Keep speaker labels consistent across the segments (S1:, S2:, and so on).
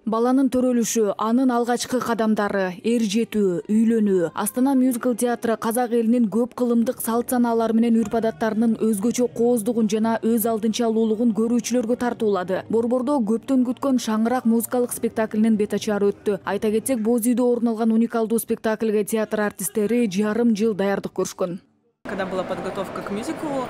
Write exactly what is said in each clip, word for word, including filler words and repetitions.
S1: Баланын төрөлүшү, анын алгачкы кадамдары, эр жетүү, үйлөнүү. Астана мюзикл театры казак элинин көп кылымдык салт санаалары менен үрп-адаттарынын өзгөчө кооздугун жана өз алдынча алуулугун көрүүчүлөргө тартуулады. Борбордо көптөн күткөн Шаңырак музыкалык спектаклинин бет ачары өттү. Айта кетсек, боз үйдө орун алган уникалдуу спектакльге театр артисттери жарым жыл даярдык көрүшкөн.
S2: Когда была подготовка к мюзиклу,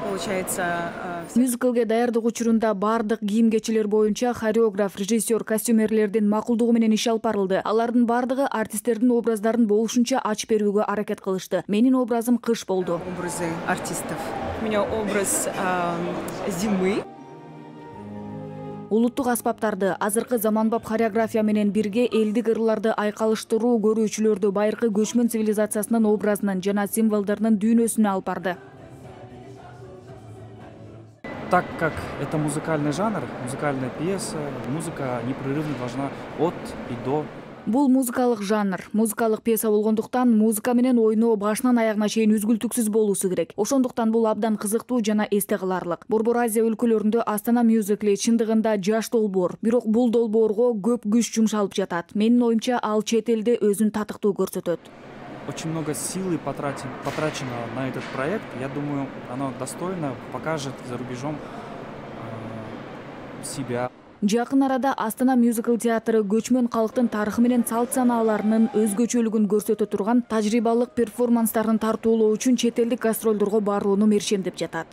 S2: получается...
S1: Мюзиклге даярдык учурунда бардык кийим-кечилер боюнча хореограф, режиссер, костюмерлердин макулдугу менен иш алып барылды. Алардын бардыгы артисттердин образдарын болушунча ачып берүүгө аракет кылышты. Менин образым кыш болду.
S2: Образы артистов. У меня образ зимы.
S1: Улуттук аспаптарды, азыркы заманбап хореография менен бирге элдик ырларды айкалыштыруу көрүүчүлөрдү байыркы көчмөн цивилизациясынын образынан жана символдорунун дүйнөсүнө алып барды.
S3: Так как это музыкальный жанр, музыкальная пьеса, музыка непрерывно должна от и до.
S1: Бул музыкалык жанр, музыкалык пьеса болгондуктан музыка менен ойноо башынан аягына чейин үзгүлтүксүз болуусу керек. Ошондуктан бул абдан кызыктуу жана эсте каларлык. Борбор Азия өлкөлөрүндө Астана мюзикли чындыгында жаш долбоор, бирок бул долбоорго көп күч жумшалып жатат. Менин оюмча, ал чет элде өзүн татыктуу көрсөтөт.
S3: Очень много силы потрачено на этот проект. Я думаю, оно достойно покажет за рубежом себя.
S1: Жакын арада Астана мюзикл театры көчмөн калктын тарыхы менен салт санааларынын өзгөчөлүгүн көрсөтө турган тажрыйбалык перформанстарын тартуулоо үчүн чет элдик гастролдорго барууну мерчемдеп жатат.